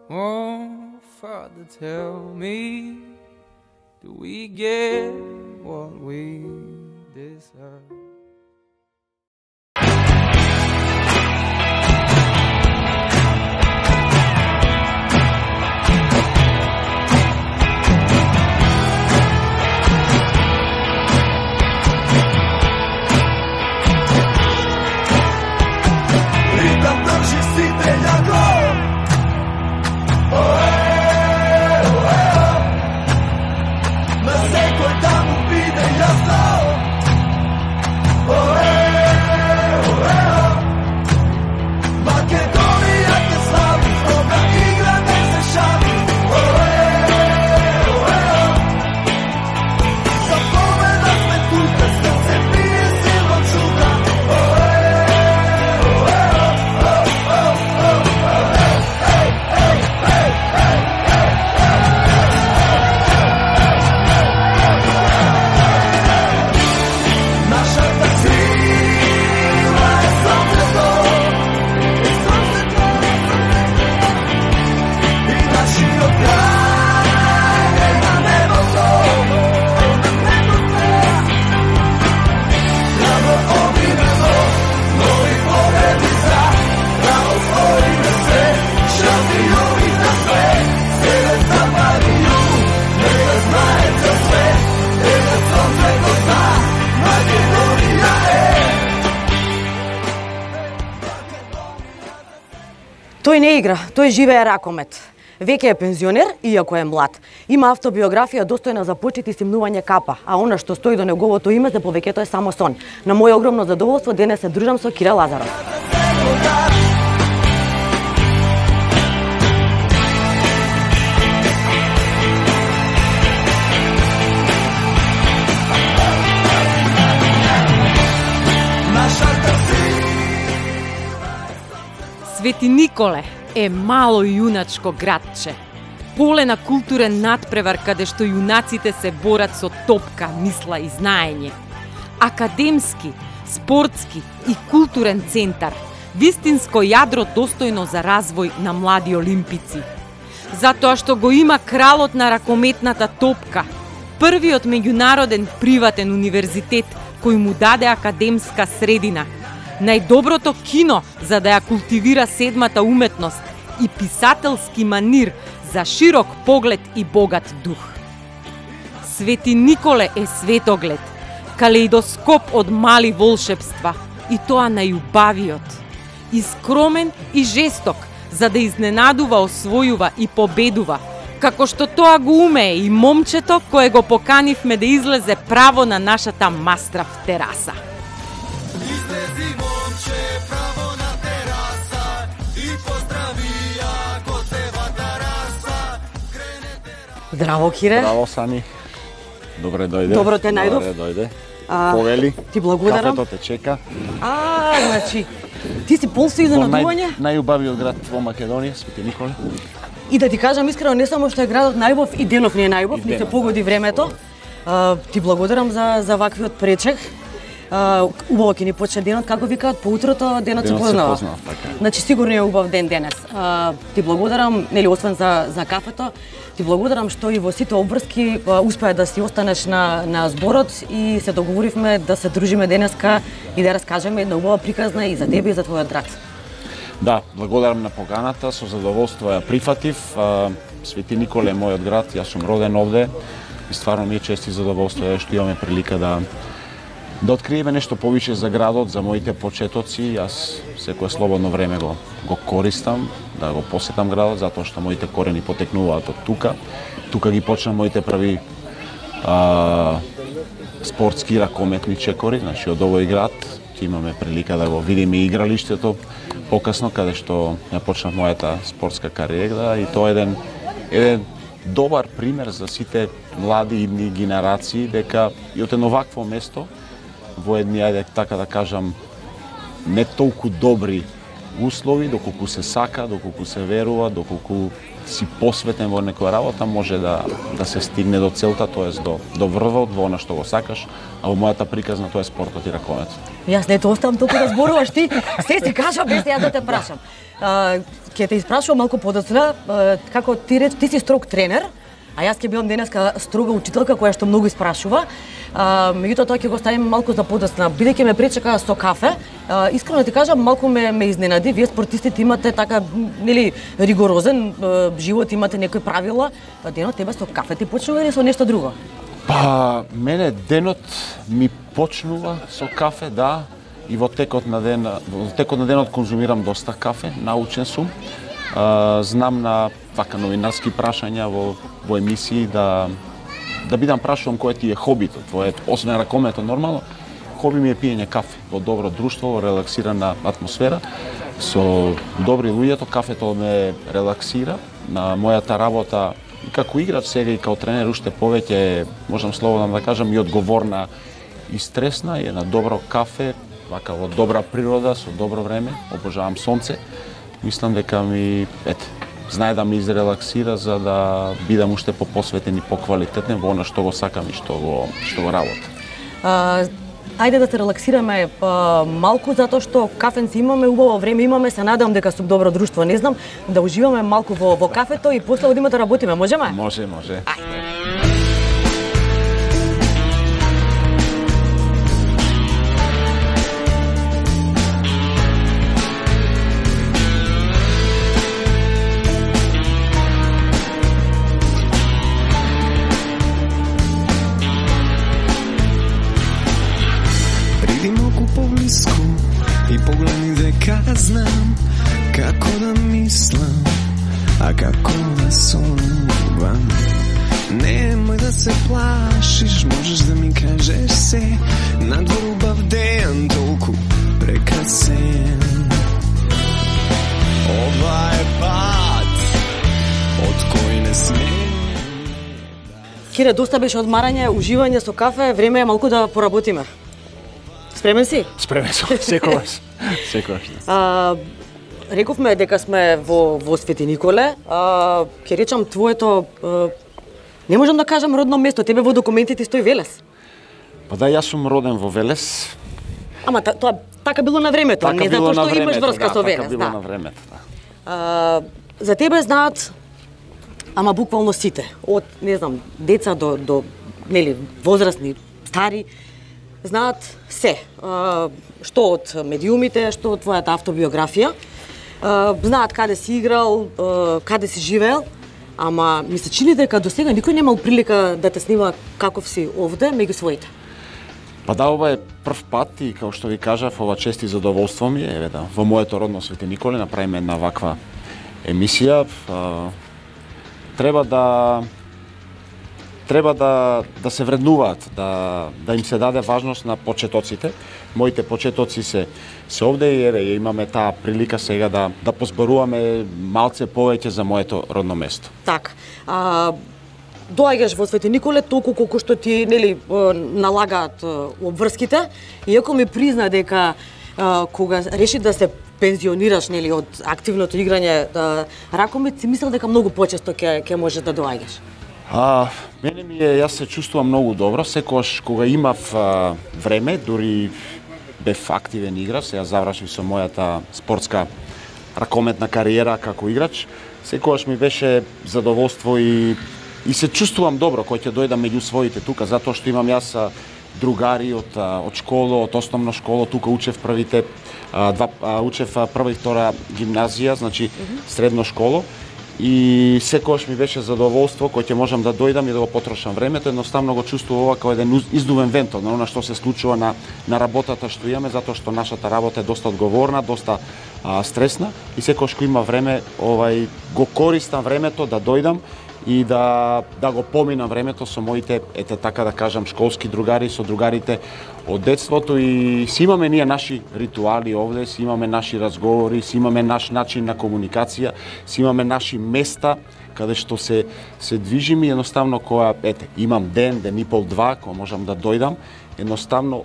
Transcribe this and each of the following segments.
Oh, Father, tell me, do we get what we deserve? Тој не игра, тој живее ракомет. Веќе е пензионер, иако е млад. Има автобиографија достојна за почит и стимнување капа, а она што стои до неговото име за повеќето е само сон. На моје огромно задоволство денес се дружам со Кире Лазаров. Свети Николе е мало јуначко градче, поле на културен надпревар каде што јунаците се борат со топка, мисла и знаење. Академски, спортски и културен центар, вистинско јадро достојно за развој на млади олимпици. Затоа што го има кралот на ракометната топка, првиот меѓународен приватен универзитет кој му даде академска средина, најдоброто кино за да ја култивира седмата уметност и писателски манир за широк поглед и богат дух. Свети Николе е светоглед, калеидоскоп од мали волшебства, и тоа најубавиот. И скромен и жесток, за да изненадува, освојува и победува, како што тоа го умее и момчето кое го поканивме да излезе право на нашата мастрав тераса. Здраво, Кире. Здраво, Сани. Добре дојде. Добро те најдов. Добре дојде. Повели. Ти благодарам. Кафето те чека. Значи, ти си пол со изненадување? Најубавиот град во Македонија, Свети Николе. И да ти кажам искрено, не само што е градот најубав, и денов не е најубав, ни се погоди времето. Ти благодарам за ваквиот пречек. Убаво ќе ни почне денот, како викаат, по утрото денот се познава. Значи сигурно е убав ден денес. Ти благодарам, нели освен за кафето, ти благодарам што и во сите обврски успеа да си останеш на зборот и се договоривме да се дружиме денеска и да раскажеме една убава приказна и за тебе и за твојот град. Да, благодарам на поканата, со задоволство ја прифатив. Свети Николе е мојот град, јас сум роден овде и стварно ми е чест и задоволство што имаме прилика да откриеме нешто повише за градот, за моите почетоци. Јас секое слободно време го користам да го посетам градот, затоа што моите корени потекнуваат од тука. Тука ги почнам моите први спортски ракометни чекори, значи од овој град. Имаме прилика да го видиме игралиштето покасно, каде што ја почнав мојата спортска кариера, и тоа е еден добар пример за сите млади идни генерации, дека и од едно вакво место, во едни, ајде така да кажам, не толку добри услови, доколку се сака, доколку се верува, доколку си посветен во некоја работа, може да се стигне до целта, тоест до врвот, во она што го сакаш, а во мојата приказна тоа е спортот и ракометот. Јас не те оставам толку да зборуваш ти, се си кажа без да ја да те прашам. Ќе те испрашувам малку подоцна, како ти си строг тренер, а јас ќе бидам денеска строга учителка која што многу испрашува. Меѓутоа тоа ќе го ставим малку за подоцна, бидејќи ме пречека со кафе. Искрено ти кажам, малку ме изненади. Вие спортистите имате така, нели, ригорозен живот, имате некои правила. Денот тебе со кафе ти почнува или со нешто друго? Па, мене денот ми почнува со кафе, да, и во текот на денот конзумирам доста кафе, научен сум. Знам на вака новинарски прашања во емисии да бидам прашувам кој ти е хобито твое, освен ракометот нормално. Хоби ми е пиење кафе во добро друштво, во релаксирана атмосфера, со добри луѓе, кафето ме релаксира. На мојата работа и како играч сега и како тренер уште повеќе, можам слободно да кажам, и одговорна и стресна, и на добро кафе, вака во добра природа, со добро време, обожавам сонце. Мислам дека знае да ме изрелаксира за да бидам уште попосветен и поквалитетен во она што го сакам и што го работам. Ајде да се релаксираме малку, затоа што кафенци имаме, убаво време имаме, се надевам дека сум добро друштво, не знам, да уживаме малку во кафето и после одиме да работиме, можеме? Може. И погледни дека знам како да мислам, а како да сонувам. Немој да се плашиш, можеш да ми кажеш се, надвор убав ден, толку прекрасен. Ова е пат од кој не сме. Кире, доста беше одмарање, уживање со кафе, време е малку да поработиме. Спремен си? Спремен сум, секогаш. Рековме дека сме во Свети Николе. Ќе речам твоето, не можам да кажам родно место, тебе во документите стои Велес. Па да, јас сум роден во Велес. Ама тоа така било на времето, не затоа што имаш врска со Велес. Така било на времето, да. За тебе знаат, ама буквално сите, од, не знам, деца до нели, возрастни, стари, знаат се, што од медиумите, што од твојата автобиографија, знаат каде си играл, каде си живеел, ама ми се чини дека до сега никој немал прилика да те снима каков си овде меѓу своите. Па да, ова е прв пат и како што ви кажав, ова чест и задоволство ми е, во моето родно Свети Николе направиме една ваква емисија. Треба да се вреднуваат, да им се даде важност на почетоците. Моите почетоци се овде и имаме таа прилика сега да позборуваме малце повеќе за моето родно место. Така. Доаѓаш во Свети Николе толку колку што ти нели налагаат обврските, иако ми призна дека кога реши да се пензионираш нели од активното играње ракомет, си мислел дека многу почесто ќе можеш да доаѓаш. Мене јас се чувствувам многу добро, секогаш кога имав време, дури бев активен играч, сега завршив со мојата спортска ракометна кариера како играч, секогаш ми беше задоволство и се чувствувам добро кој ќе дојдам меѓу своите тука, затоа што имам јас другари од школа, од основна школа, тука учев учев прва и втора гимназија, значи средно школо. И секогаш ми беше задоволство кој ќе можам да дојдам и да го потрошам времето, едноставно го чувствувам ова како еден издувен вентил на она што се случува на работата што имаме, затоа што нашата работа е доста одговорна, доста стресна и секогаш кога има време, го користам времето да дојдам и да го поминам времето со моите, така да кажам, школски другари, со другарите од детството и си имаме ние наши ритуали овде, си имаме наши разговори, си имаме наш начин на комуникација, си имаме наши места каде што се движиме и едноставно кога имам ден и пол, два, кога можам да дојдам, едноставно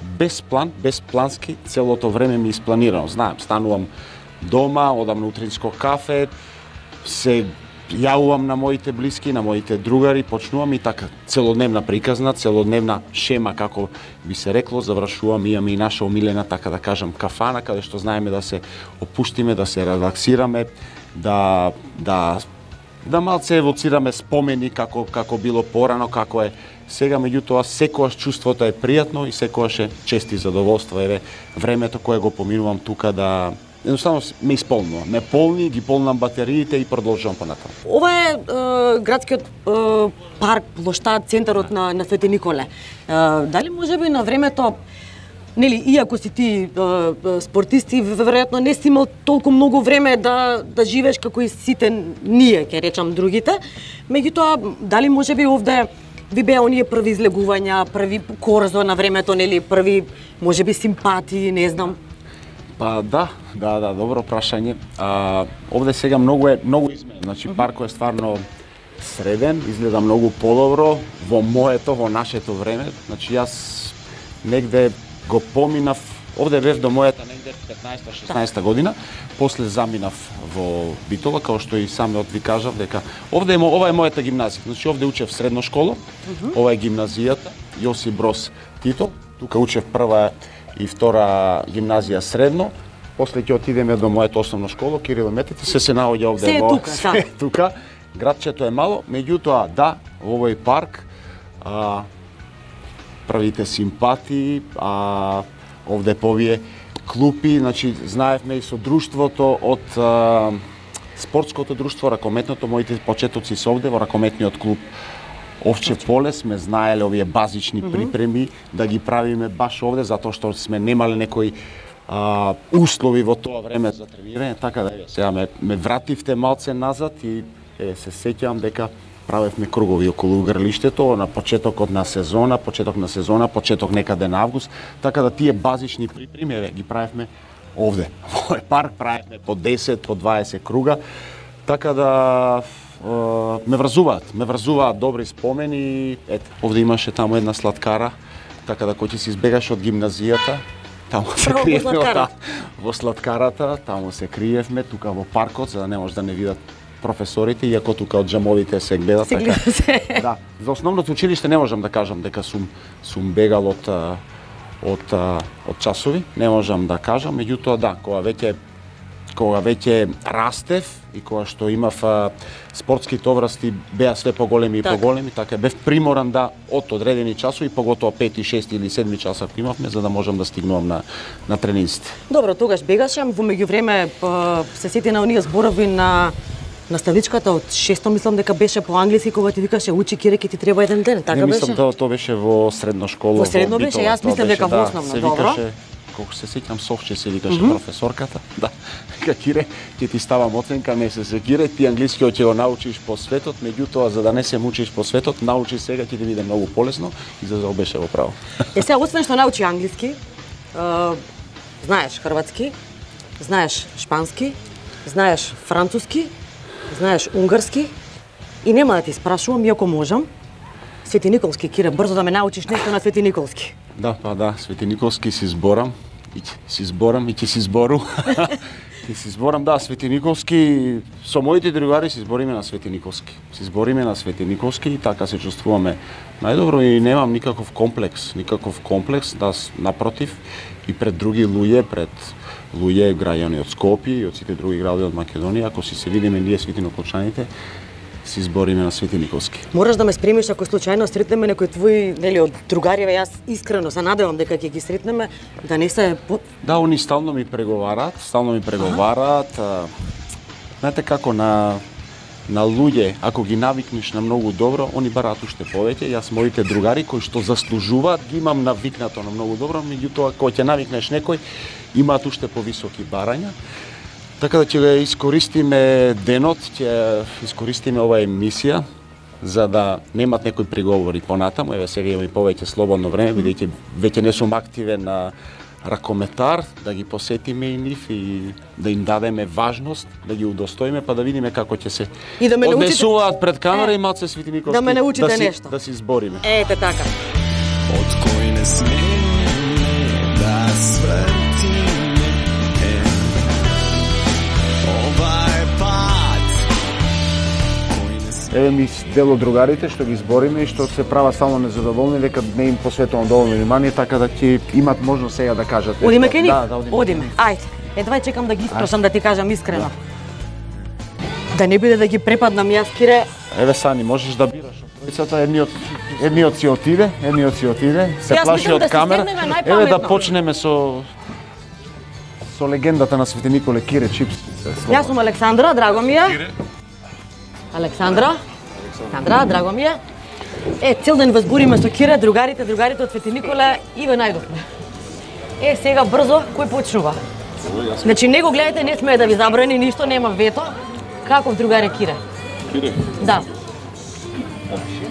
без план, без плански, целото време ми испланирано. Знаем, станувам дома, одам на утринско кафе, се јавувам на моите блиски, на моите другари, почнувам и така целодневна приказна, целодневна шема, како би се рекло, завршувам, имаме и наша омилена, така да кажам, кафана, каде што знаеме да се опуштиме, да се релаксираме, да малце евоцираме спомени како било порано, како е сега, меѓутоа секогаш чувството е пријатно и секогаш е чест и задоволство. Еве времето кое го поминувам тука да едноставно ме исполнува. Ме полни, ги полнам батериите и продолжувам понатаму. Ова е градскиот парк, плоштад, центарот на Свети Николе. Дали можеби на времето, нели, иако си ти спортисти, веројатно не си имал толку многу време да живееш како и сите ние, ќе речам другите, меѓутоа дали можеби овде ви беа оние први излегувања, први корзо на времето, нели, први можеби симпатии, не знам. Па да, добро прашање. Овде сега многу изменено. Значи паркот е стварно среден, изгледа многу подобро во нашето време. Значи јас негде го поминав, овде бев до мојата негде 15-16 година, после заминав во Битола, као што и самиот ви кажав дека ова е мојата гимназија. Значи овде учев средно школа, ова е гимназијата Јосип Броз Тито, тука учев прва и втора гимназија средно, после ќе отидеме до мојата основна школа Кирил и Методи, се наоѓа овде тука. Градчето е мало, меѓутоа да, во овој парк првите симпатии, овде по овие клупи, значи знаевме и со друштвото од спортското друштво, ракометното, моите почетоци се овде во ракометниот клуб Овче поле, сме знаеле овие базични припреми да ги правиме баш овде, затоа што сме немале некои услови во тоа време за тренирање, така да сега ме вративте малце назад и се сеќавам дека правевме кругови околу игралиштето на почеток на сезона, почеток некаде на август, така да тие базични припреми ги правевме овде. Во парк правевме по 10, по 20 круга, така да ме врзуваат добри спомени. Ете, овде имаше таму една сладкара, така да кој ќе се избегаш од гимназијата, таму се криевме во сладкарата, таму се криевме, тука во паркот, за да не може да не видат професорите, иако тука од джамовите се гледат. Да, за основното училиште не можам да кажам дека сум бегал од часови, не можам да кажам, меѓутоа да, кога веќе растев и кога што имав спортски товрасти беа све поголеми и поголеми, така бев приморан да од одредени часови, поготоа 5, 6 или 7 часа имавме за да можам да стигнувам на тренинзите. Добро, тогаш бегаше, во меѓувреме се сети на оние зборови на наставничката од 6-то, мислам дека беше по англиски, кога ти викаше учи киреки ти треба еден ден, така беше? Не, мислам тоа беше во средно школа. Во средно беше, јас мислам дека во основно, добро. Колку се сеќам, Совче се викаше професорката, да, Кире, ќе ти ставам оценка, не се Кире, ти англискиот ќе го научиш по светот, меѓутоа за да не се мучиш по светот, научи сега, ќе ти биде многу полесно и за беше во право. Сега, освен што научи англиски, знаеш хрватски, знаеш шпански, знаеш француски, знаеш унгарски и нема да ти спрашувам, иако можам, Свети Николски, Кире, брзо да ме научиш нешто на Свети Николски. Да, Свети Николски си зборам и ќе си збору. Ќе си зборам, да, Свети Николски, со моите другари си збориме на Свети Николски. И така се чувствуваме најдобро и немам никаков комплекс, да, напротив, и пред други луѓе, граѓани од Скопје и од сите други градови од Македонија, ако си се видиме ние светиноклучаните, си збориме на Свети Николски. Мораш да ме спремиш ако случајно сретнеме некој твој, нели, од другариве, јас искрено се надевам дека ќе ги сретнеме, да не се Да, они стално ми преговараат. Знаете како на луѓе, ако ги навикнеш на многу добро, они бараат уште повеќе. Јас моите другари кои што заслужуваат, ги имам навикнато на многу добро, меѓутоа кога ќе навикнеш некој, имаат уште повисоки барања. Така да ќе го искористиме денот, ќе искористиме оваа емисија за да немат некои приговори понатаму. Еве сега имаме повеќе слободно време, бидејќи веќе не сум активен на ракометар, да ги посетиме и нив и да им дадеме важност, да ги удостоиме, па да видиме како ќе се однесуваат пред камера и малце Свети Николски. Да ме научите нешто. Да си збориме. Ете така. Од кој не сме еве ми дел од другарите што ги збориме и што се права само незадоволни дека не им посветувам доволно внимание, така да ќе имат можност сега да кажат. Одиме ке нив? Да, одиме. Ајде. Едва чекам да ги испрашам да ти кажам искрено. Да не биде да ги препаднам јас, Кире. Еве Сани, можеш да бираш од тројцата, едниот си отиде, се плаши од камера. Еве да почнеме со легендата на Свети Николе Кире Чипс. Јас сум Александра, драго ми е. Александра, драго ми е. Цел ден возбуриме со Кире, другарите од Свети Николе и ве најдовме. Сега брзо, кој почнува? Значи, не го гледате, не смее да ви забрани ништо, нема вето. Каков другар е Кире? Кире? Да.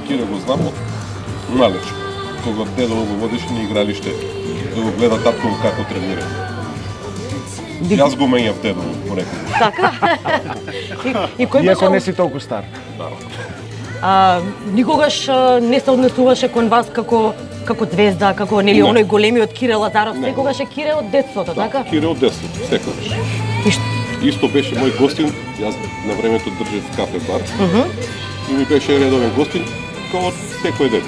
Кире го знам од малеч. Кога дедо го водеше на игралиште, да го гледа татко како тренира. Јас го менјав дедо порекол. Така? И кој Иако не си толку стар. Никогаш не се однесуваше кон вас како звезда, како нели оној големиот Кире Лазаров, секогаш е Кире од детството, така? Кире од детството, секогаш. Исто беше мој гостин, јас на времето држев кафе бар. И ми беше редовен гостин, како секој ден.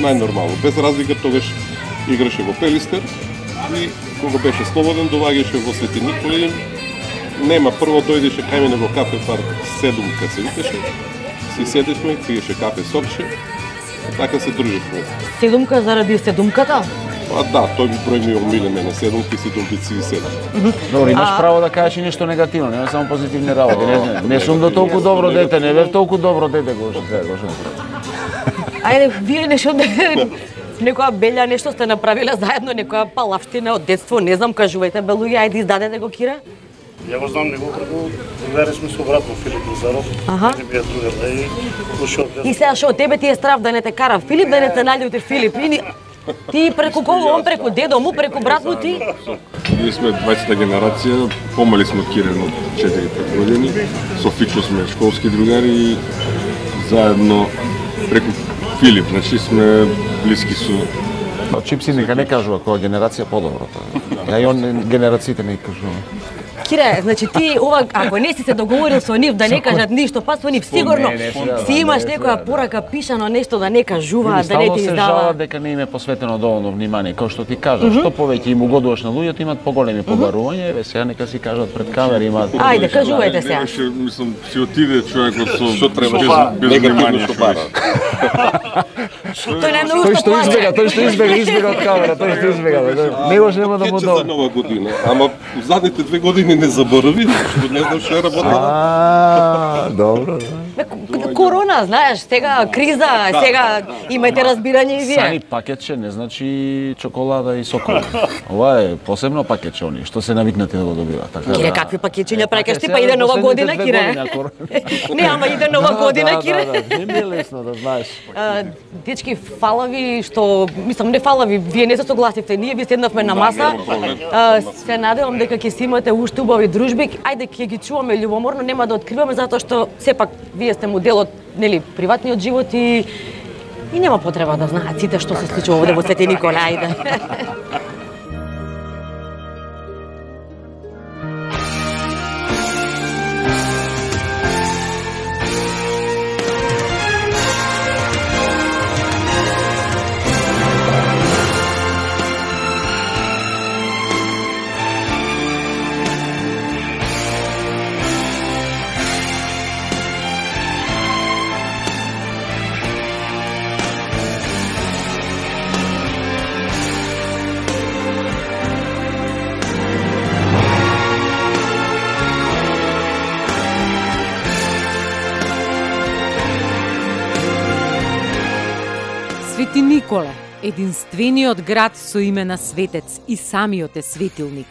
Најнормално, без разлика тогаш играше во Пелистер и кога беше слободен доаѓаше во Свети Николе. Нема, прво дојдеше кај мене во кафе бар Седумка се викаше. Си седешме, пиеше кафе сокче, така се дружевме. Седумка заради седумката? Да, тој ми број ми омиле мене, седумки, седумбици и седум. Добро, имаш право да кажеш и нешто негативно, нема само позитивни работи. Не сум до толку добро дете, не бев толку добро дете го Ајде, вие нешто некоја белја нешто сте направиле заедно, некоја палавштина од детство, не знам, кажувајте, белуѓе, ајде издадете го Кире. Ја го знам него преку другари сме со брат во Филип Лазаров. Не бија другар да и ушо од. И сега што од тебе ти е страв да не те кара Филип, да не те наљути Филип. Ти преку кого, он преку дедо му, преку брат му ти? Ние сме 20-та генерација, помали сме од Кире од 4-5 години. Со Фичо сме школски другари и заедно преку Филип, значи сме блиски со... Чипси нека не кажува која генерација подобро. Ја и он генерациите не кажува. Кире, значи ти ова, ако не си се договорил со нив да не кажат ништо, па со нив сигурно си имаш некоја порака пишано нешто да не кажуваат, да не ти издава. Стално се жалат дека не им е посветено доволно внимание, како што ти кажаш, што повеќе им угодуваш на луѓето, имат поголеми побарувања, еве сега нека си кажат пред камера имаат. Ајде, кажувајте сега. Мислам, си отиде човекот со без внимание што бара. Тој најмногу што плаќа. Тој што избега од камера, тој што избега. Негош нема да му дава. За нова година, ама задните 2 години не заборави, што не знам што е работа. Добро. Корона, знаеш, сега криза, сега имајте разбирање и вие. Сани пакетче не значи чоколада и сокол. Ова е посебно пакетче они што се навикнати да го добиваат. Така. Кире, какви пакетчиња праќаш ти, па иде нова година, Кире. Не, ама иде нова година, Кире. Не ми е лесно да знаеш. Дечки, фала ви што, мислам, не фала ви, вие не се согласивте, ние ви седнавме на маса. Се надевам дека ќе си имате уште убави дружби. Ајде ќе ги чуваме љубоморно, нема да откриваме затоа што сепак вие сте дел од, нели, приватниот живот и нема потреба да знаат сите што се случува овде во Свети Николе, ајде. Свети Николе, единствениот град со име на светец и самиот е светилник.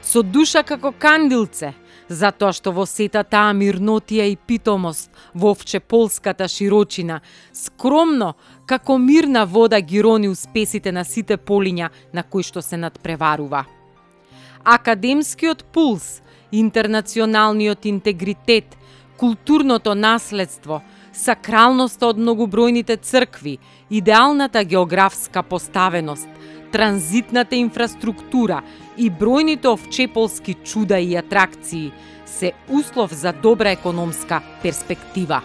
Со душа како кандилце, затоа што во сета таа мирнотија и питомост, во овчеполската широчина, скромно, како мирна вода ги рони успесите на сите полиња на кои што се надпреварува. Академскиот пулс, интернационалниот интегритет, културното наследство, сакралноста од многобројните цркви, идеалната географска поставеност, транзитната инфраструктура и бројните овчеполски чуда и атракции се услов за добра економска перспектива.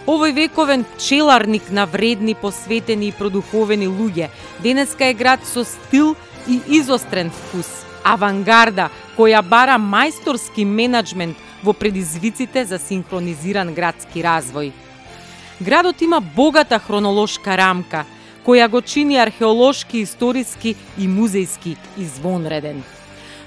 Овој вековен пчеларник на вредни, посветени и продуховени луѓе, денеска е град со стил и изострен вкус, авангарда која бара мајсторски менаџмент во предизвиците за синхронизиран градски развој. Градот има богата хронолошка рамка, која го чини археолошки, историски и музејски извонреден.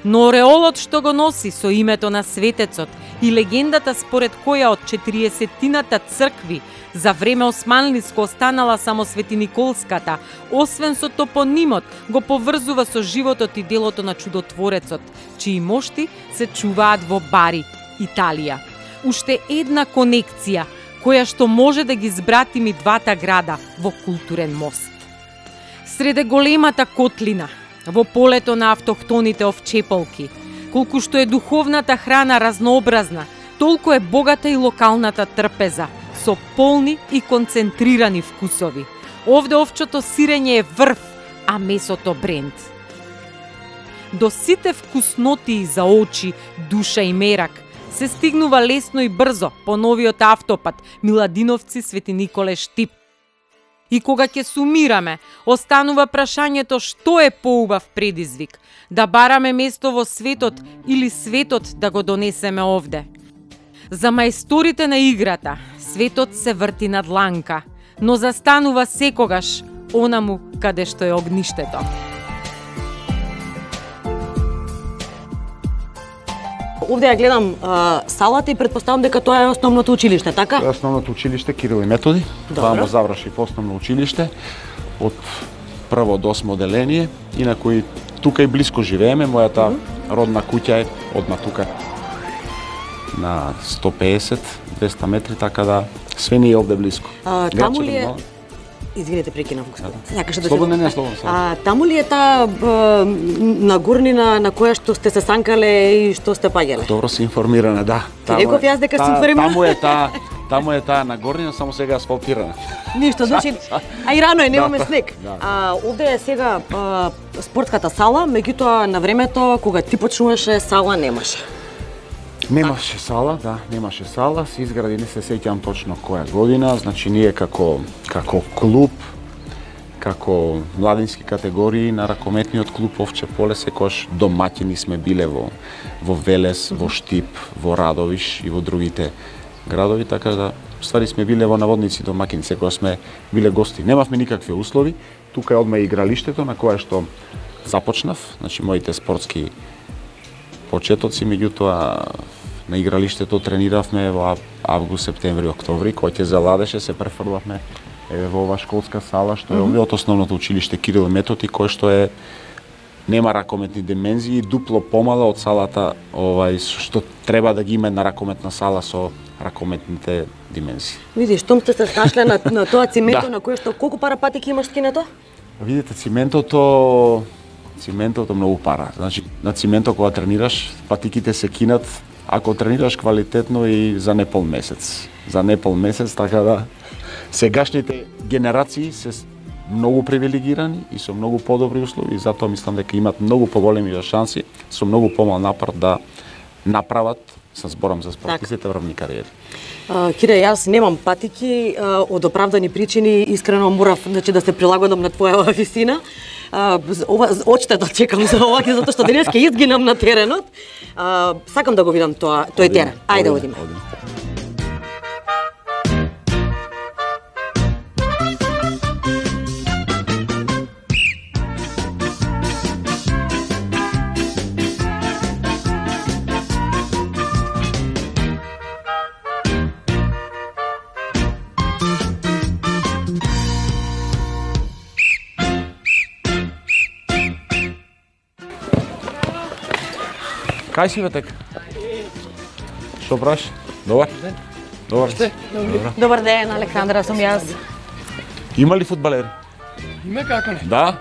Но ореолот што го носи со името на светецот и легендата според која од 40-тината цркви за време османлиско останала само Светиниколската, освен со топонимот, го поврзува со животот и делото на чудотворецот, чии мошти се чуваат во Бари, Италија. Уште една конекција, која што може да ги збратими двата града во културен мост. Среде големата котлина, во полето на автохтоните овчеполки, колку што е духовната храна разнообразна, толку е богата и локалната трпеза, со полни и концентрирани вкусови. Овде овчото сирење е врв, а месото бренд. До сите вкуснотии за очи, душа и мерак се стигнува лесно и брзо по новиот автопат Миладиновци Свети Николе Штип. И кога ќе сумираме, останува прашањето што е поубав предизвик, да бараме место во светот или светот да го донесеме овде. За мајсторите на играта, светот се врти на дланка, но застанува секогаш онаму каде што е огништето. Овде ја гледам салата и предпоставам дека тоа е основното училиште, така? Тоа е основното училиште Кирил и Методи. Тоа му завршив основно училиште од прво до 8 оделение, инаку и тука и блиско живееме, мојата родна куќа е одма тука на 150-200 метри, така да све ни е овде блиско. Таму ли е... Извинете, прекинав. Сакаше да слободно, не, слободно. Таму ли е таа нагорнина на која што сте се санкале и што сте паѓале? Добро си информирана, да. Реков јас дека си информирана. Таму е таа нагорнина, само сега асфалтирана. Ништо, значи, а и рано е, немаме снег. Овде е сега спортската сала, меѓутоа на времето кога ти почнуваше сала немаше. Немаше сала, да, немаше сала, се изгради, не се сеќавам точно која година, значи ние како клуб, како младински категории на ракометниот клуб Овче поле секогаш домаќини сме биле во Велес, во Штип, во Радовиш и во другите градови, така да ствари сме биле во наводници домаќини, секогаш сме биле гости. Немавме никакви услови, тука е одма игралиштето на кое што започнав, значи моите спортски почетоци, меѓутоа на игралиштето трениравме во август, септември, октомври, кој ќе заладеше, се префрлавме во ова школска сала што е овде од основното училиште Кирил и Методи, кој што е нема ракометни димензии, дупло помала од салата што треба да ги има на ракометна сала со ракометните димензии. Видиш, штом сте се снашле на тоа цименто на кое што колку пара патики имаш скинето? Видите, циментото многу пара. Значи, на цименто кога тренираш, патиките се кинат ако тренираш квалитетно и за непол месец. За непол месец, така да сегашните генерации се многу привилегирани и со многу подобри услови, и затоа мислам дека имат многу поголеми шанси со многу помал напор да направат, се зборам за спортистите, врвни кариери. Кире, јас немам патики, од оправдани причини, искрено морав да се прилагодам на твоја висина. Очте да чекам за ова, затоа што денеска изгинам на теренот. Сакам да го видам тој терен. Ајде, одиме. Кај си, бе, така? Што правиш? Добар? Добар сте? Добар ден, Александра, сум јас. Има ли фудбалери? Има, како не? Да?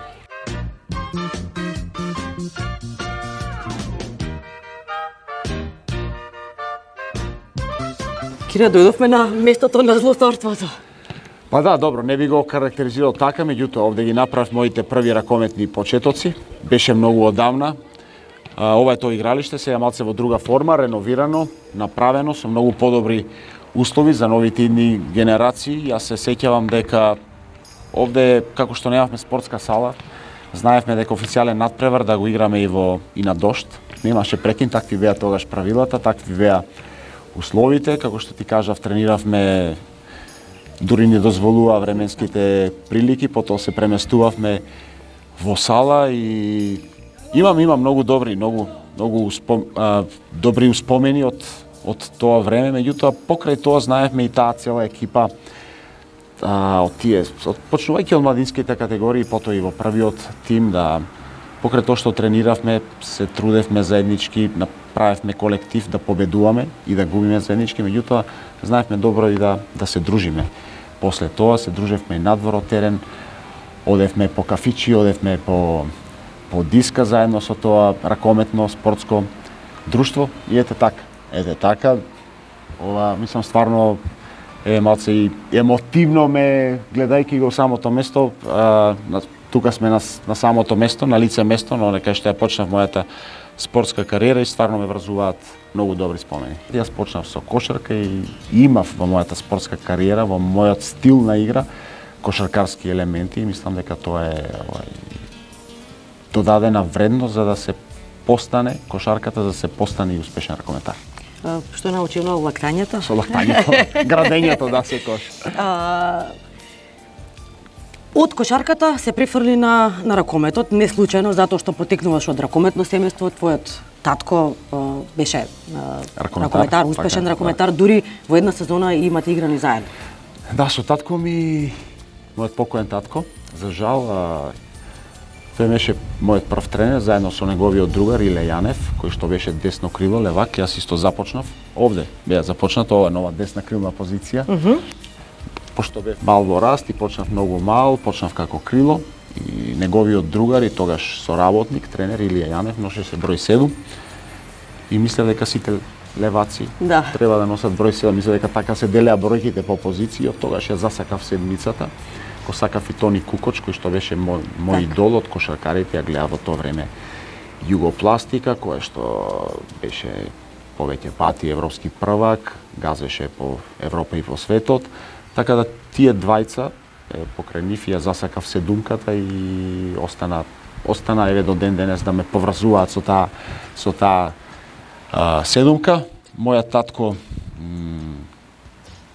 Кире, дојдовме на местото на злосторството. Па да, добро, не би го карактеризирал така, меѓутоа овде ги направив моите први ракометни почетоци. Беше многу одамна. Ова е тоа игралиште, сега малце во друга форма, реновирано, направено со многу подобри услови за новите идни генерации. Јас се сеќавам дека овде, како што немавме спортска сала, знаевме дека официјален надпревар да го играме и на дожд. Немаше прекин, такви беа тогаш правилата, такви беа условите. Како што ти кажав, трениравме, дури не дозволува временските прилики, потоа се преместувавме во сала и имам многу добри, многу добри успомени од тоа време, меѓутоа покрај тоа знаевме и таа цела екипа почнувајќи од младинските категории, потоа и во првиот тим, да покрај тоа што трениравме, се трудевме заеднички, направевме колектив да победуваме и да губиме заеднички, меѓутоа знаевме добро и да се дружиме. После тоа се дружевме и надвор од терен, одевме по кафичи, одевме по диска заедно со тоа ракометно спортско друштво и ете така, ова мислам стварно малце и емотивно ме гледајќи го самото место. Тука сме на самото место, на лице место, но кај што ја почнав мојата спортска кариера и стварно ме врзуваат многу добри спомени. Јас почнав со кошарка и имав во мојата спортска кариера, во мојот стил на игра, кошаркарски елементи и мислам дека тоа е додадена вредност за да се постане кошарката, за да се постане и успешен ракометар. Што научи много лактањето? Со лактањето, градењето, да, секојаш. Од кошарката се префрли на ракометот, не случајно, затоа што потекнуваш од ракометно семејство, твојот татко беше ракометар, успешен ракометар, дури во една сезона имате играни заедно. Да, со татко ми, мојот покоен татко, за жал, тој беше мојот прв тренер, заедно со неговиот другар Иле Јанев, кој што беше десно крило, левак, јас исто започнав. Овде беа започнато, ова нова десна крилна позиција. Пошто бев мал во раст и почнав многу мал, почнав како крило и неговиот другар и тогаш соработник, тренер Илија Јанев, носеше број 7 и мислев дека сите леваци треба да носат број 7, мислев дека така се делеа бројките по позиција, од тогаш ја засакав седмицата. Го сакав и Тони Кукоч, кој што беше мој идол од кошаркарите, ја гледав во тоа време Југопластика, која што беше повеќе пати европски првак, газеше по Европа и по светот. Така да тие двајца, покрај нив ја засакав седумката и остана еве до ден денес да ме поврзуваат со таа седумка. Мојот татко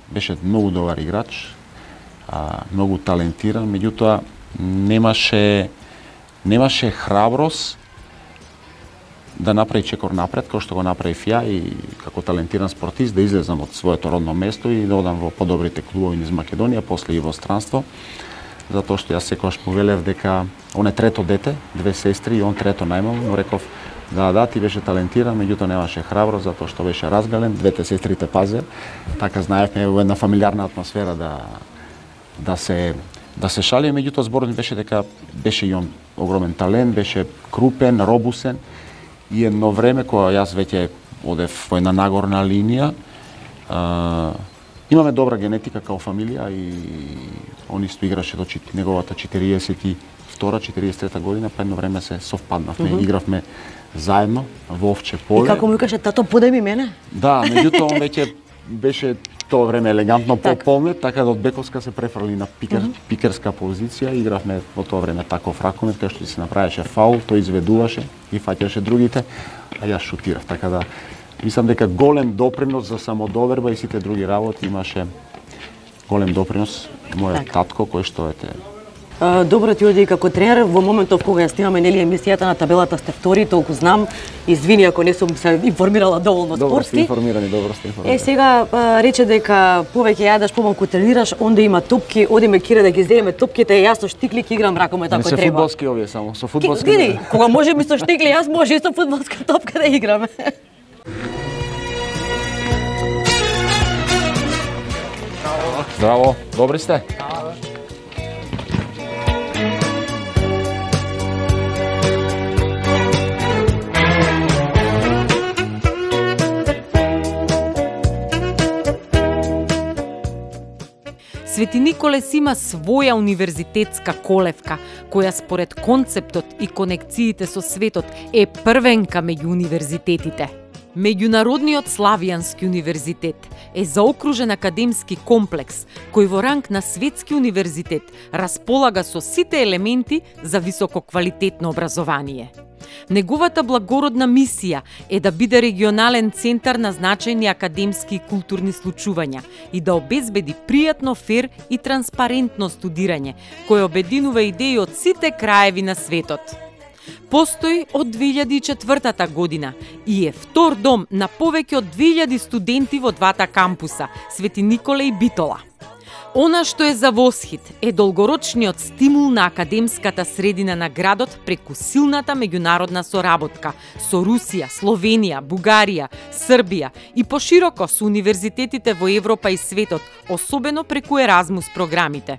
беше многу добар играч, многу талентиран, меѓутоа немаше храброст да направи чекор напред, кој што го направив ја и како талентиран спортист да излезам од своето родно место и да одам во подобрите клубови низ Македонија, после и во странство, затоа што јас секогаш му велев дека он е трето дете, 2 сестри и он трето најмало, му реков да, ти беше талентиран, меѓутоа немаше храброст затоа што беше разгален, двете сестрите пазе, така знаевме во една фамилиарна атмосфера да се шали, меѓутоа зборот беше дека беше и он огромен талент, беше крупен, робусен и едно време кога јас веќе одев во една нагорна линија, имаме добра генетика као фамилија и он исто играше до неговата 42-43 година, па едно време се совпаднавме, игравме заедно во Овче поле. И како му викаше тато, подај ми мене? Да, меѓутоа он веќе беше тоа време елегантно пополнет, така да од бековска се префрли на пикерска позиција. Игравме во тоа време таков ракомет, кај што се направеше фаул, тој изведуваше и фаќаше другите, а јас шутирав. Така да мислам дека голем допринос за самодоверба и сите други работи имаше голем допринос мојот татко, кој што Добро ти оди како тренер, во моментов кога ја снимаме нели емисијата на табелата сте втори, толку знам. Извини ако не сум се информирала доволно спортски. Добро сте информирани. Сега рече дека повеќе јадеш, помалку тренираш, онде има топки, одиме кире да ги земеме топките, јас со штикли ќе играм ракомет ако треба. Не се фудбалски овие само, со фудбалски. Види, кога може ми со штикли, јас може и со фудбалска топка да играме. Здраво, добри сте? Свети Николе си има своја универзитетска колевка, која според концептот и конекциите со светот е првенка меѓу универзитетите. Меѓународниот Славијански универзитет е заокружен академски комплекс кој во ранг на светски универзитет располага со сите елементи за висококвалитетно образование. Неговата благородна мисија е да биде регионален центар на значајни академски и културни случувања и да обезбеди пријатно, фер и транспарентно студирање, кој обединува идеи од сите краеви на светот. Постои од 2004 година и е втор дом на повеќе од 2000 студенти во двата кампуса, Свети Николе и Битола. Она што е за восхит е долгорочниот стимул на академската средина на градот преку силната меѓународна соработка со Русија, Словенија, Бугарија, Србија и пошироко со универзитетите во Европа и светот, особено преку Еразмус програмите.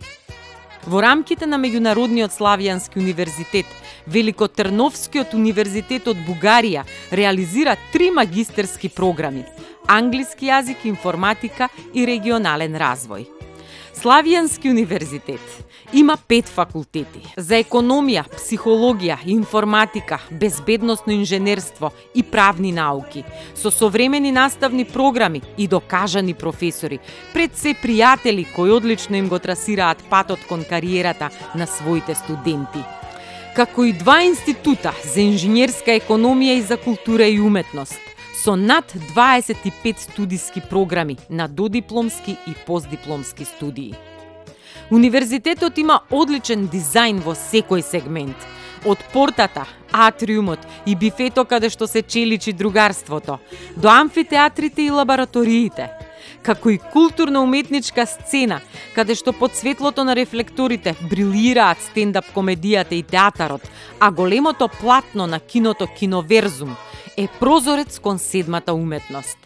Во рамките на Меѓународниот Славијански универзитет, Великотрновскиот универзитет од Бугарија реализира 3 магистерски програми – англиски јазик, информатика и регионален развој. Славијански универзитет има 5 факултети за економија, психологија, информатика, безбедносно инженерство и правни науки, со современи наставни програми и докажани професори, пред се пријатели кои одлично им го трасираат патот кон кариерата на своите студенти. Како и 2 института за инженерска економија и за култура и уметност, со над 25 студиски програми на додипломски и постдипломски студии. Универзитетот има одличен дизајн во секој сегмент, од портата, атриумот и бифето каде што се челичи другарството, до амфитеатрите и лабораториите, како и културно-уметничка сцена, каде што под светлото на рефлекторите брилираат стендап комедијата и театарот, а големото платно на киното Киноверзум е прозорец кон седмата уметност.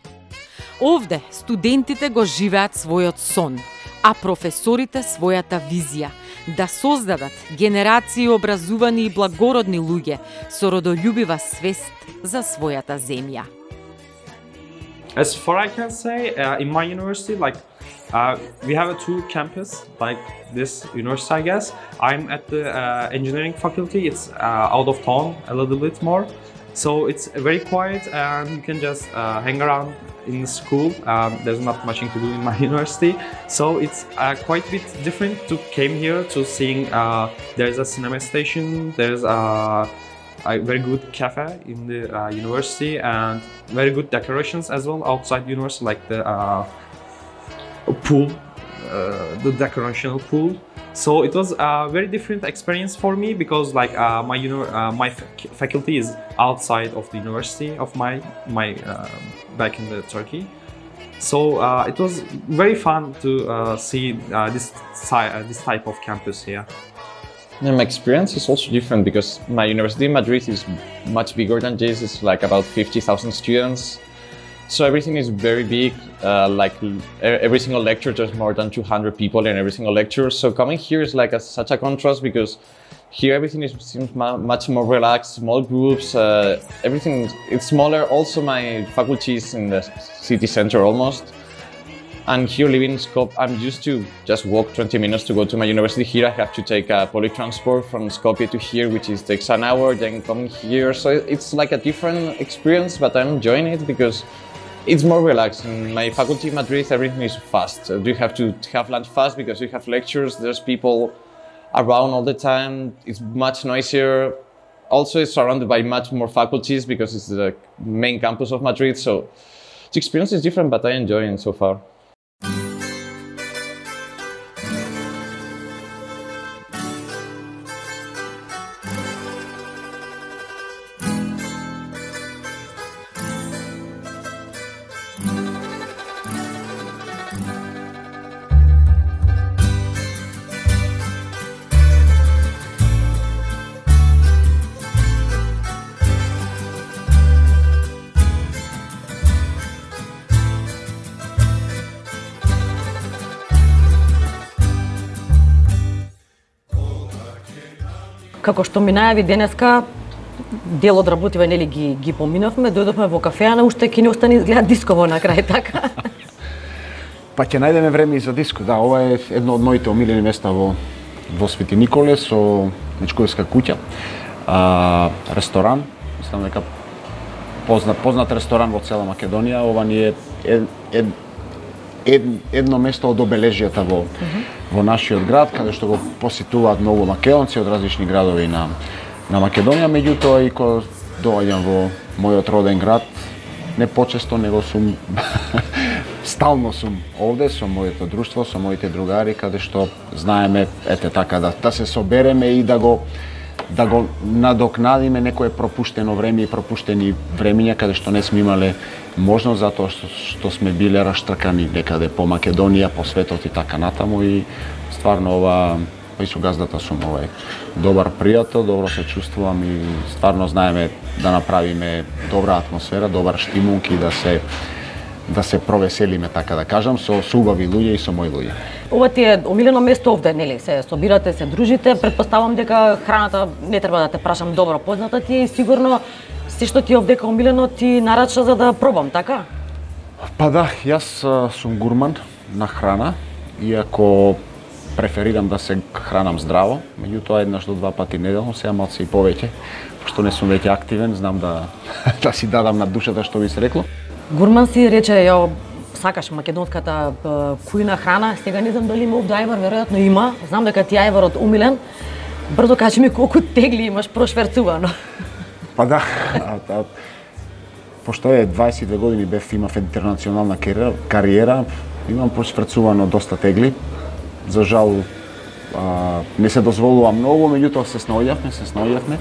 Овде студентите го живеат својот сон, а професорите својата визија да создадат генерации образувани и благородни луѓе со родолюбива свест за својата земја. As far I can say, in my university, we have 2 campus, like this university, I guess. I'm at the engineering faculty. It's out of town a little bit more. So it's very quiet and you can just hang around in the school. There's not much to do in my university. So it's quite a bit different to came here to seeing there's a cinema station, there's a very good cafe in the university and very good decorations as well outside university, like the pool, the decorational pool. So it was a very different experience for me because my faculty is outside of the university of my back in the Turkey. So it was very fun to see this type of campus here. And my experience is also different because my university in Madrid is much bigger than this. It's like about 50,000 students. So everything is very big, every single lecture there's more than 200 people in every single lecture. So coming here is like such a contrast because here everything seems much more relaxed, small groups, everything it's smaller. Also my faculty is in the city center almost. And here living in Skopje, I'm used to just walk 20 minutes to go to my university. Here I have to take a public transport from Skopje to here, which takes an hour, then coming here. So it's like a different experience, but I'm enjoying it because it's more relaxed. In my faculty in Madrid, everything is fast. You have to have lunch fast because you have lectures, there's people around all the time. It's much noisier. Also, it's surrounded by much more faculties because it's the main campus of Madrid. So the experience is different, but I enjoy it so far. Како што ми најави денеска, дел од работиве нели ги поминовме, дојдовме во кафеана, уште ќе ни остане изгледа дисково на крај, така? Па ќе најдеме време и за диско. Да, ова е едно од моите омилени места во Свети Николе со Мечковска куќа. Ресторан, мислам дека познат ресторан во цела Македонија. Ова ни е едно место од обележјата во нашиот град, каде што го посетуваат многу македонци од различни градови на Македонија, меѓутоа и кога доаѓам во мојот роден град, не почесто, него сум стално сум овде со моето друштво, со моите другари, каде што знаеме така да се собереме и да го надокнадиме некое пропуштено време и пропуштени времиња каде што не сме имале можност затоа што сме биле раштркани некаде по Македонија, по светот и така натаму и стварно ова и со газдата сум овај добар пријател, добро се чувствувам и стварно знаеме да направиме добра атмосфера, добар штимунг и да се провеселиме, така да кажам, со убави луѓе и со мои луѓе. Ова ти е омилено место овде, нели? Се собирате, се дружите, претпоставам дека храната не треба да те прашам, добро позната ти е и сигурно се што ти е овдека омилено ти нарача за да пробам, така? Па да, јас сум гурман на храна, иако преферирам да се хранам здраво, меѓутоа еднаш до 2 пати неделно, сега малце и повеќе, пошто не сум веќе активен, знам да си дадам на душата што би се рекло. Гурман си рече, ја сакаш македонската кујна храна, сега не знам дали има овде ајвар, веројатно има, знам дека ти ајварот умилен. Брзо кажи ми колку тегли имаш прошверцувано. Па да, пошто е 22 години имав интернационална кариера, имам прошверцувано доста тегли. За жал не се дозволува многу, меѓутоа се снаоѓавме.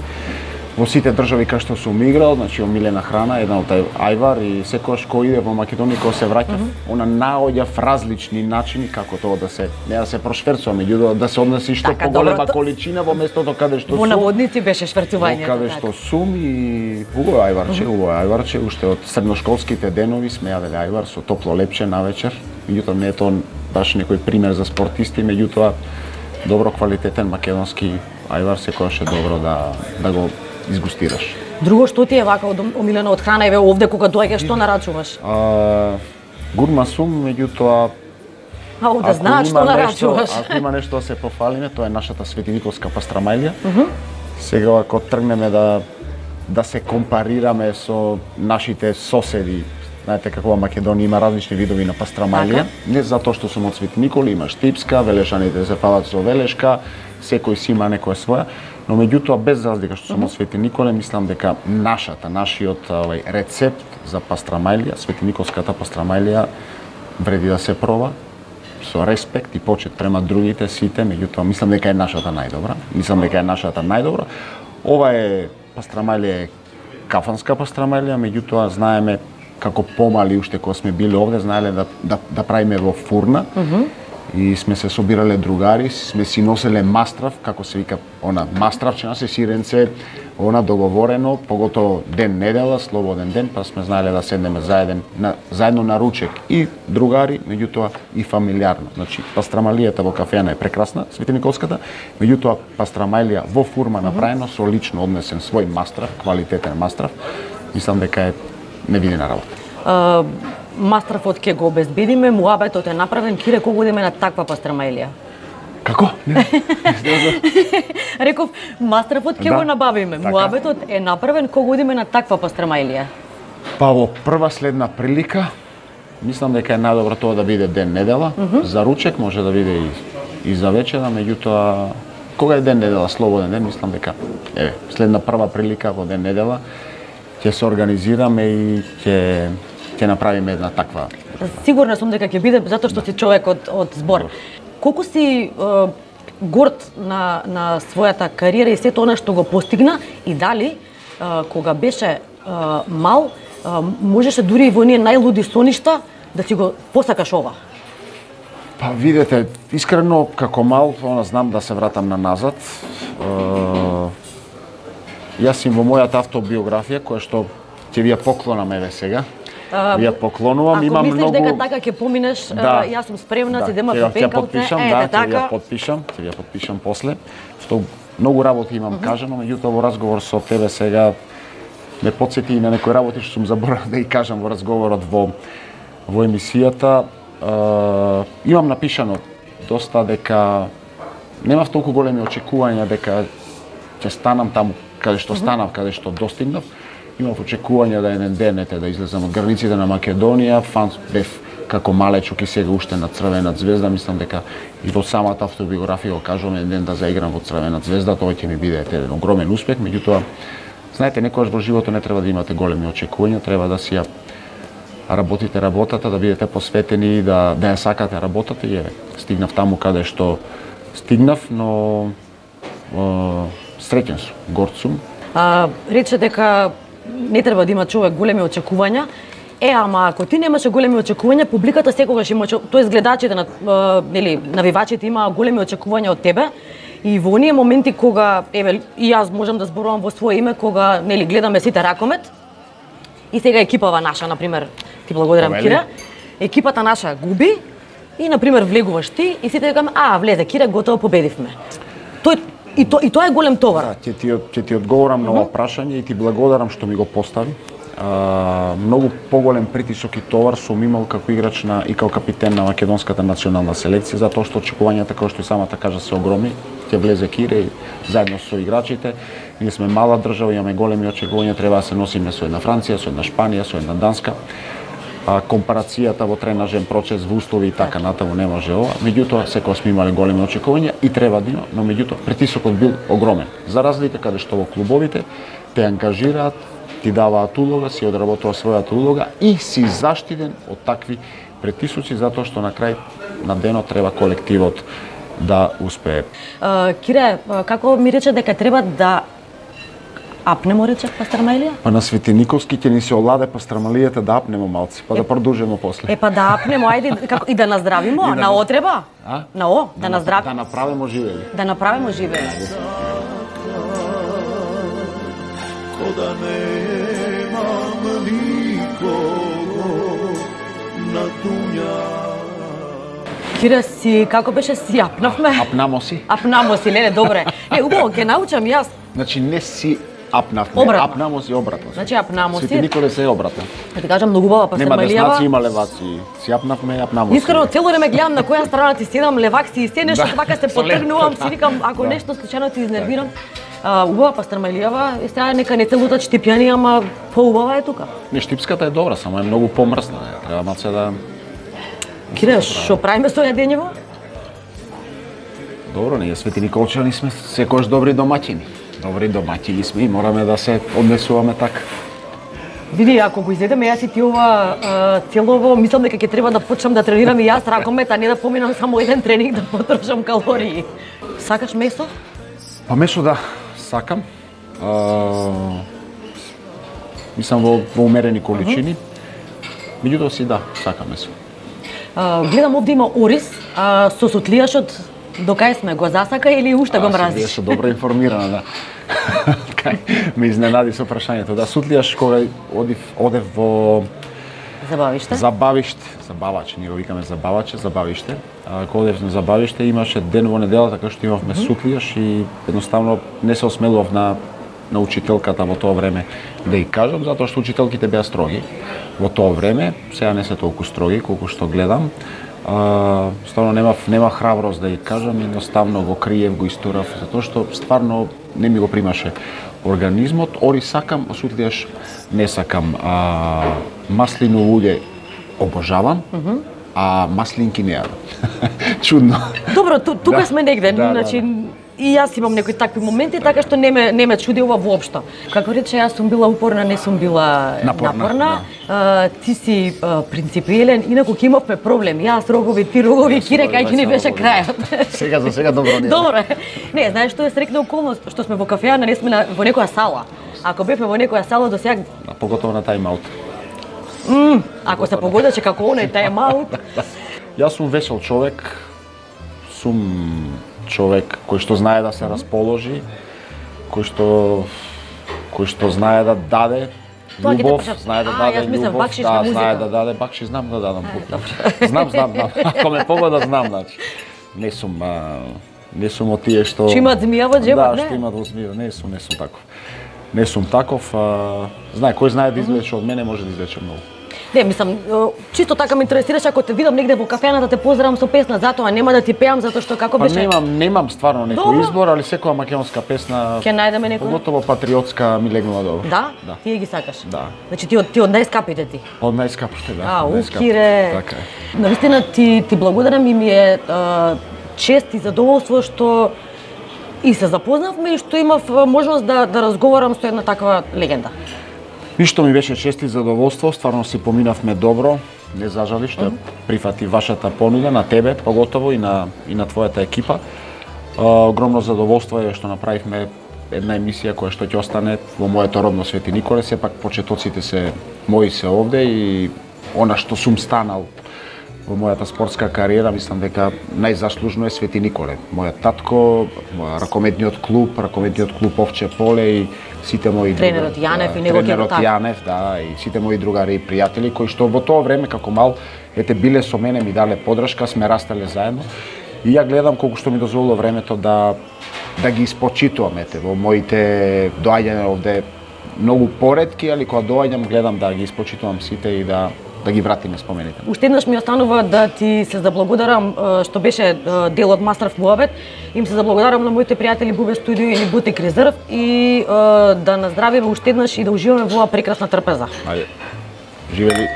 Во сите држави кај што сум играл, значи омилена храна, една од ајвар и секогаш кој иде во Македонија, кога се враќав, она наоѓав различни начини како тоа не да се прошверцува, меѓутоа да се однеси што поголема количина во местото каде што сум. Во наводници беше шверцувањето. Каде што сум и убаво ајварче, уште од средношколските денови сме јаделе ајвар со топло лепче навечер. Меѓутоа не е тоа баш некој пример за спортисти, меѓутоа добро квалитетен македонски ајвар секогаш е добро да го изгустираш. Друго што ти е вака омилено од храна, еве овде кога доаѓаш, што нарачуваш? Гурман сум, меѓутоа овде знаеш што нарачуваш. Ако има нешто да се пофалиме, тоа е нашата светиниколска пастрамајлија. Сега ако тргнеме да се компарираме со нашите соседи, знаете како во Македонија има различни видови на пастрамајлија, не затоа што сум од Свети Никола, има штипска, велешаните се палат со велешка, секој си има некоја своја, но меѓутоа без разлика што сум од Свети Николе, мислам дека нашиот рецепт за пастрамајлија, светиниколската пастрамајлија вреди да се проба со респект и почит према другите сите, меѓутоа мислам дека е нашата најдобра. Ова е пастрамајлија, кафанска пастрамајлија, меѓутоа знаеме како помали уште кога сме били овде, знаеле да правиме во фурна. И сме се собирале другари, сме си носеле мастрав, како се вика, мастравчина се сиренце, договорено, поготово ден недела, слободен ден, па сме знаеле да седнеме заедно на ручек и другари, меѓутоа и фамилиарно. Значи, пастрамајлијата во кафејана е прекрасна, Светиниколската, меѓутоа пастрамајлија во фурма направено со лично однесен свој мастрав, квалитетен мастрав, мислам дека е невидена работа. Мастрафот ќе го обезбедиме, муабетот е направен, кире кога одиме на таква пастрамајлија? Како? Реков, мастрафот ќе го набавиме, муабетот е направен кога одиме на таква пастрамајлија. Па во прва следна прилика, мислам дека е најдобро тоа да биде ден недела, за ручек може да биде и за вечера, меѓутоа кога е ден недела, слободен ден, мислам дека следна прва прилика во ден недела ќе се организираме и ќе направиме една таква. Сигурна сум дека ќе биде затоа што си човек од збор. Колку си горд на својата кариера и сето она што го постигна и дали кога беше мал можеше дури и во оние најлуди соништа да си го посакаш ова? Па видете, искрено како мал знам да се вратам на назад. Јас сум во мојата автобиографија која што ќе ви ја поклонам еве сега. Ви ја поклонувам, имам многу. Ако мислиш дека така ќе поминеш, јас сум спремна, ти дема пипенкалце, така. Ќе ја подпишам после. Што многу работи имам кажано, меѓутоа во разговор со тебе сега ме потсети и на некои работи што сум заборавил да ги кажам во разговорот во емисијата. имам напишано доста дека немав толку големи очекувања дека ќе станам таму каде што станав, каде што достигнав. Имав очекувања да еден ден да излезам од границите на Македонија. Фан бев како малечок и сега уште на Црвена звезда. Мислам дека и во самата автобиографија го кажувам еден ден да заиграм во Црвена звезда, тоа ќе ми биде еден огромен успех. Меѓутоа, знаете, некогаш во животот не треба да имате големи очекувања, треба да си ја работите работата, да бидете посветени и да ја сакате работата и стигнав таму каде што стигнав, но среќен сум, горд сум. Рече дека не треба да има човек големи очекувања. Ама ако ти немаше големи очекувања, публиката секогаш има, тоест гледачите нели навивачите има големи очекувања од тебе. И во оние моменти кога еве и јас можам да зборувам во свое име, кога нели гледаме сите Ракомет и сега екипава наша, на пример, ти благодарам Кире. Екипата наша губи и на пример влегуваш ти и сите викаме влезе Кире, готово победивме. И тоа е голем товар. Да, ќе ти одговорам на ова прашање и ти благодарам што ми го постави. Многу поголем притисок и товар сум имал како играч и како капитен на македонската национална селекција, затоа што очекувањата, како што и самата кажа, се огромни. Ќе влезе Кире и заедно со играчите. Ние сме мала држава, имаме големи очекувања, треба да се носиме со една Франција, со една Шпанија, со една Данска. Компарацијата во тренажен процес, во услови и така натаму не може ова. Меѓутоа, секогаш сме имале големи очекувања и треба да има, но меѓутоа притисокот бил огромен. За разлика каде што во клубовите те ангажираат, ти даваат улога, си одработува својата улога и си заштитен од такви притисоци, затоа што на крај на денот треба колективот да успее. Кире, како ми рече дека треба да апнемо, рече Пастрамалија? Па на Свети Николски ќе ни се оладе Пастрамалијата да апнемо малци, па да продолжиме после. Па да апнемо, ајде, како и да наздравимо, на отреба? На да наздравимо. Да направимо живели. Да направимо живели. Кода немам никого на дуња. Кире, си, како беше, си апнавме? Апнамо си. Апнамо си, леле, добре. Убаво, ќе научам јас. Значи не си апнавме, апнамо си обратно. Значи апнамо си. Свети Николе се обратно. Ти кажам, многу убава Пастрамалијава. Нема деснаци, има леваци. Си апнавме, апнамо си. Искрено, цело време гледам на која страна ти седам, левак си и се нешто така се потргнувам, си викам, ако нешто случајно ти изнервирам. Убава Пастрамалијава, сега нека не те лутат штипјани, ама поубава е тука. Не, штипската е добра, само е многу помрсна. Треба малце да... Кире, што правиме со јадењево? Добро, ние Свети Николчани сме секојаш добри домаќини. Добри домаќини сме и мораме да се однесуваме така. Види, ако го изедеме јас и ти ова целово, мислам дека ќе треба да почнам да тренирам и јас Ракомет, а не да поминам само еден тренинг да потрошам калории. Сакаш месо? Па месо да, сакам. Мислам во умерени количини. Меѓутоа си да, сакам месо. Гледам овде има ориз, со сутлијашот до кај сме го засака или уште го мразиш? Беше добро информирана, да. Ме изненади со прашањето. Да, сутлијаш кога одев во Забаваче, ние го викаме забавиште. Кога одев на забавиште имаше ден во неделата кога што имавме сутлијаш и едноставно не се осмелував на учителката во тоа време да ја кажам, затоа што учителките беа строги во тоа време, сега не се толку строги колку што гледам. Стварно немав храброст да ја кажам, едноставно го криев, го истурав, затоа што стварно не ми го примаше организмот. Ориз сакам, а сутлијаш не сакам. Маслиново улје обожавам, а маслинки не јадам. Чудно. Добро, тука сме негде, значи и јас имам некои такви моменти, така што не ме чуди ова воопшто. Како рече, јас сум била упорна, не сум била напорна. Ти си принципиелен, инаку ќе имавме проблем. Јас рогови, ти рогови, Кире, кај ќе ни беше крајот. Сега за сега добро не. Добро. Не, знаеш што е срекна околност, што сме во кафеана, не сме во некоја сала. Ако бевме во некоја сала до сега, поготово на тајм-аут. Ако се погодеше како оној тајм-аут. Јас сум весел човек. Сум човек кој што знае да се расположи, кој што знае да даде љубов, знае да даде љубов, знае да даде бакши, знам да дадам купи. Знам. Ако ме погода знам, значи. Не сум од тие што имат змија во џебот, не? Да, што имат во змија, не сум таков. Не сум таков, кој знае да извлече од мене може да извлече многу. Не, мислам, чисто така ме интересираш ако те видам негде во кафената те поздравам со песна, затоа нема да ти пеам затоа што како беше. Немам стварно некој избор, али секоја македонска песна ќе најдеме некој. Поготово патриотска ми легнува добро. Да? Ти ги сакаш? Да. Значи ти од најскапите ти. Од најскапите, да. Кире. Така е. Навистина ти благодарам и ми е чест и задоволство што и се запознавме и што имав можност да разговарам со една таква легенда. Ништо ми беше чест и задоволство, стварно си поминавме добро, не зажали што прифати вашата понуда на тебе, поготово и на твојата екипа. Огромно задоволство е што направивме една емисија која што ќе остане во моето родно Свети Николе, сепак почетоците се мои се овде и она што сум станал во мојата спортска кариера, мислам дека најзаслужно е Свети Николе. Мојот татко, ракометниот клуб Овче поле и сите мои тренерот Јанев и неговиот тренерот Јанев, да, и сите мои другари и пријатели кои што во тоа време како мал биле со мене, ми дале подршка, сме растеле заедно. И ја гледам колку што ми дозволило времето да ги испочитувам во моите доаѓања овде многу поретки, али кога доаѓам гледам да ги испочитувам сите и да ги вратиме спомените. Уште еднаш ми останува да ти се заблагодарам што беше дел од Мастеров муабет. Им се заблагодарам на моите пријатели Бубе Студио и Бутик Резерв и да наздравиме уште еднаш и да уживаме во оваа прекрасна трпеза. Ајде. Живели.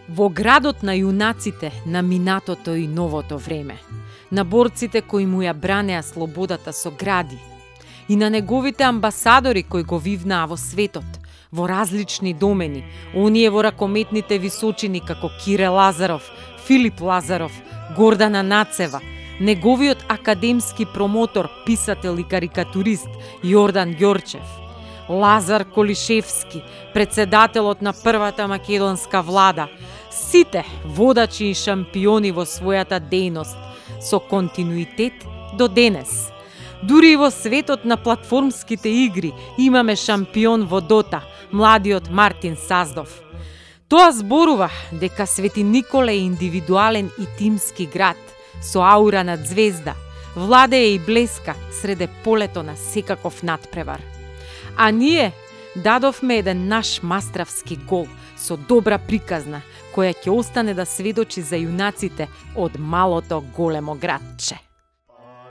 Во градот на јунаците на минатото и новото време, на борците кои му ја бранеа слободата со гради и на неговите амбасадори кои го вивнаа во светот, во различни домени, оние во ракометните височини како Кире Лазаров, Филип Лазаров, Гордана Нацева, неговиот академски промотор, писател и карикатурист Јордан Ѓорчев, Лазар Колишевски, председателот на првата македонска влада, сите водачи и шампиони во својата дејност, со континуитет до денес. Дури и во светот на платформските игри имаме шампион во Дота, младиот Мартин Саздов. Тоа зборува дека Свети Николе е индивидуален и тимски град, со аура над звезда, владее и блеска среде полето на секаков надпревар. А ние дадовме еден наш мастравски гол со добра приказна, која ќе остане да сведочи за јунаците од малото големо градче.